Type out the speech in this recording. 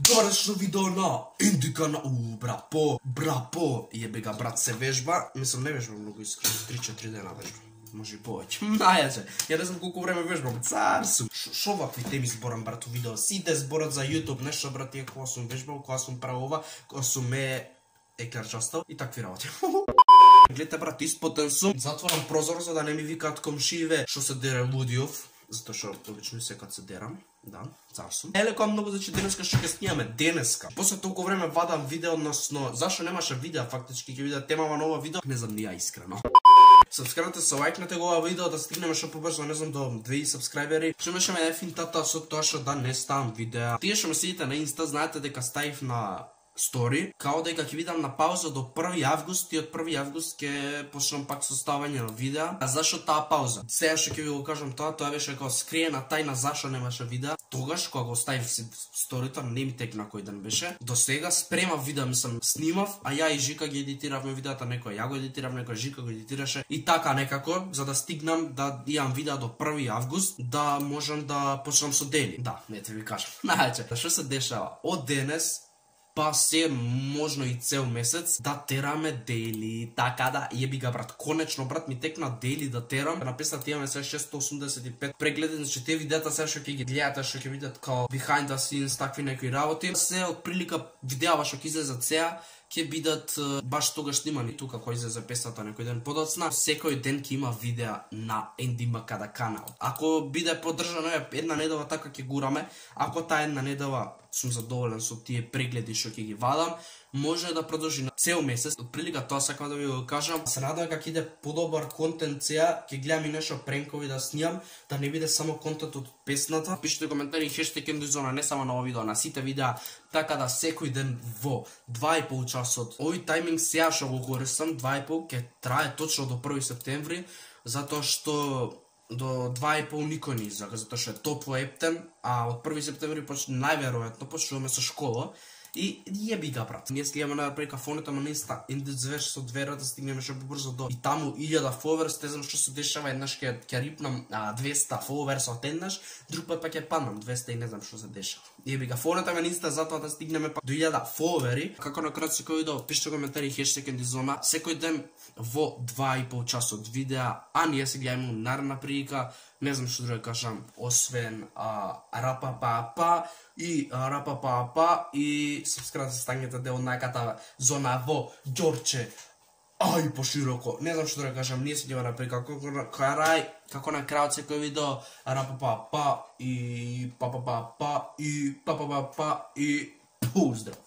Добро видео на Индика на брапо. Јебе га брат се вежба, мислам не вежба многу искрено, 3-4 дена вежба. Може и повеќе. Најаче. Ја не знам колку време вежбам. Цар сум. Шо вакви теми зборам брат у видео? Сите зборат за YouTube, нешто брат е кога сум вежбал, кога сум правил ова, кога сум екарчастал и такви работи. Гледате брат, испотен сум. Затворам прозор за да не ми викаат комшиеве што се дере лудиов. Затоа што обично секад се дерам. Да, цар сум. Елеко многу значи денеска што ќе снимаме денеска. После толку време вадам видео, односно зашо немаше видео, фактички ќе видат темава на ова видео, не знам ни ја искрено. Сабскрибнете се, лајкнете го ова видео да стигнеме што побрзо, не знам, до 2000 сабскрајбери. Што имаше ме финтата со тоа што да не ставам видеа. Тие што ме следите на Инста знаете дека ставив на стори, као дека ќе видам на пауза до 1 август и од 1 август ќе почнам пак со ставање на видеа. А зашо таа пауза? Сега што ќе ви го кажам тоа беше како скриена тајна зашо немаше видеа. Тогаш кога го ставив сторито, не ми текна кој ден беше. До сега спремав видеа, мислам, снимав, а ја и Жика ги едитиравме видеата, некој ја го едитирав, некој Жика го едитираше и така некако за да стигнам да имам видеа до 1 август, да можам да почнам со дели. Да, не те ви кажам. Најаче, што се дешава? Од денес па се можно и цел месец да тераме дели, така да јеби га брат, конечно брат ми текна дели да терам. На песната имаме се 685 прегледи, значи тие видеата сега што ќе ги гледате, што ќе видат као behind the scenes, такви некои работи, се од прилика видеа што ќе излезат сега ќе бидат баш тогаш снимани тука кој излезе песната некој ден подоцна. Секој ден ќе има видеа на NDMKD канал. Ако биде поддржано една недела така ќе гураме, ако таа една недела сум задоволен со тие прегледи што ќе ги вадам, може да продолжи на цел месец. Од прилика тоа сакам да ви го кажам. Се надевам дека ќе иде подобар контент сега, ќе гледам и нешто пренкови да снимам, да не биде само контент од песната. Пишете коментари хештег #Endizona, не само на ова видео, на сите видеа, така да секој ден во 2,5 часот. Овој тајминг сега што го користам, 2,5 ќе трае точно до 1 септември, затоа што до 2,5 никој не излага, затоа што е топло ептен, а од 1 септември најверојатно почнуваме со школа. И јеби га брат. Ние слигаме на кафоните на Инста, Индизвеш со двера да стигнеме што побрзо до и таму 1000 фоловерс, не знам што се дешава, еднаш ќе рипнам 200 фоловерс од еднаш, друг пат па ќе паднам 200 и не знам што се дешава. Јеби га фоловете на Инста затоа да стигнеме па до 1000 фоловери. Како на крај секој видео, пишете коментари хештег Endizona, секој ден во 2,5 часот видеа, а ние се гледаме наредна прилика, не знам што друго кажам, освен рапапапа и сабскрибнете се, станете дел од најката зона во Ѓорче. Ај пошироко. Не знам што друго кажам, ние се гледаме на прилика, како на крајот секој видео, рапапапа и папапапа и поздрав.